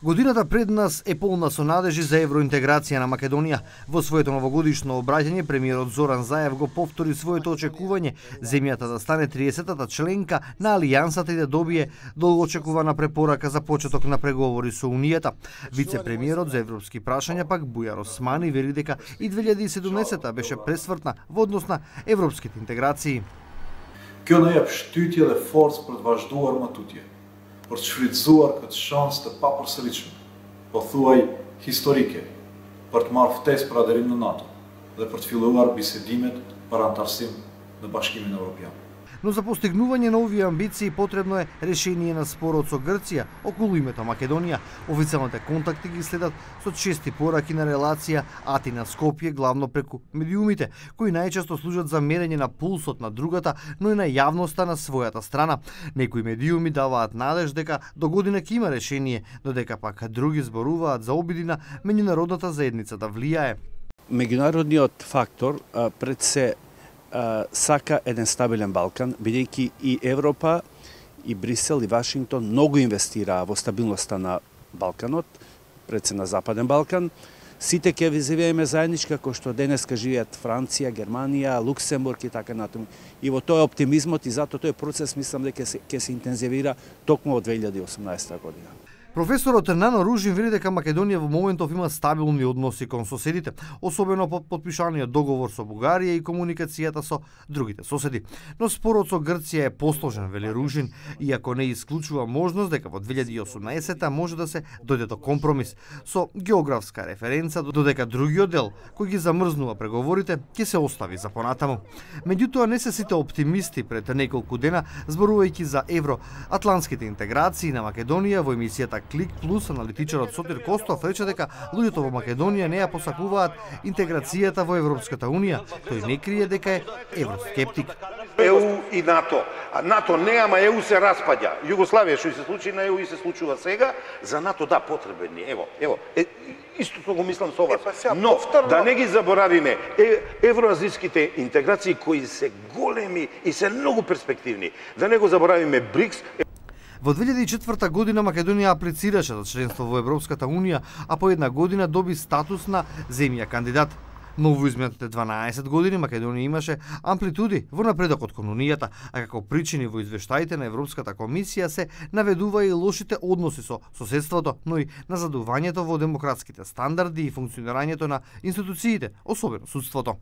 Годината пред нас е полна со надежи за евроинтеграција на Македонија. Во своето новогодишно обраќање, премиерот Зоран Заев го повтори своето очекување земјата да стане 30-та членка на Алијансата и да добие долгоочекувана препорака за почеток на преговори со Унијата. Вице-премиерот за европски прашања пак Бујар Османи вели дека и 2017 беше пресвртна во однос на европските интеграции. Kjo na jep shtytje dhe forcë për të vazhduar më tutje, për të shfrytzuar këtë shansë të papërsëritshme, po thuaj historike, për të marrë ftesë për aderim në NATO dhe për të filluar bisedimet për antarësim në Bashkimin Evropian. Но за постигнување на овие амбиции потребно е решение на спорот со Грција околу името Македонија. Официјалните контакти ги следат со чести пораки на релација Атина-Скопје, главно преку медиумите, кои најчесто служат за мерење на пулсот на другата, но и на јавноста на својата страна. Некои медиуми даваат надеж дека до година ќе има решение, додека пак други зборуваат за обиди на меѓународната заедница да влијае. Меѓународниот фактор пред се сака еден стабилен Балкан, бидејќи и Европа, и Брисел, и Вашингтон многу инвестираа во стабилноста на Балканот, пред се на Западен Балкан. Сите ќе живееме заеднички, како што денеска живеат Франција, Германија, Луксембург и така натаму. И во тој оптимизмот и затоа тој процес мислам дека ќе се интензивира токму од 2018 година. Професорот Нано Ружин вели дека Македонија во моментов има стабилни односи кон соседите, особено по подпишаниот договор со Бугарија и комуникацијата со другите соседи. Но спорот со Грција е посложен, вели Ружин, иако не исклучува можност дека во 2018 може да се дојде до компромис со географска референца, додека другиот дел кој ги замрзнува преговорите ќе се остави за понатаму. Меѓутоа не се сите оптимисти пред неколку дена зборувајќи за евроатлантските интеграции на Македонија во емисијата Клик Плюс, аналитичарот Сотир Костов рече дека луѓето во Македонија не ја посакуваат интеграцијата во Европската Унија. Тој не крие дека е евроскептик. ЕУ и НАТО. А НАТО не, ама ЕУ се распаѓа. Југославија што се случи на ЕУ и се случува сега, за НАТО да потребен ни. Ево, истото го мислам со вас. Но да не ги заборавиме евроазијските интеграции кои се големи и се многу перспективни. Да не го заборавиме БРИКС. Во 2004 година Македонија аплицираше за членство во Европската Унија, а по една година доби статус на земја кандидат. Но во изминатите 12 години Македонија имаше амплитуди во напредокот кон Унијата, а како причини во извештаите на Европската комисија се наведува и лошите односи со соседството, но и назадувањето во демократските стандарди и функционирањето на институциите, особено судството.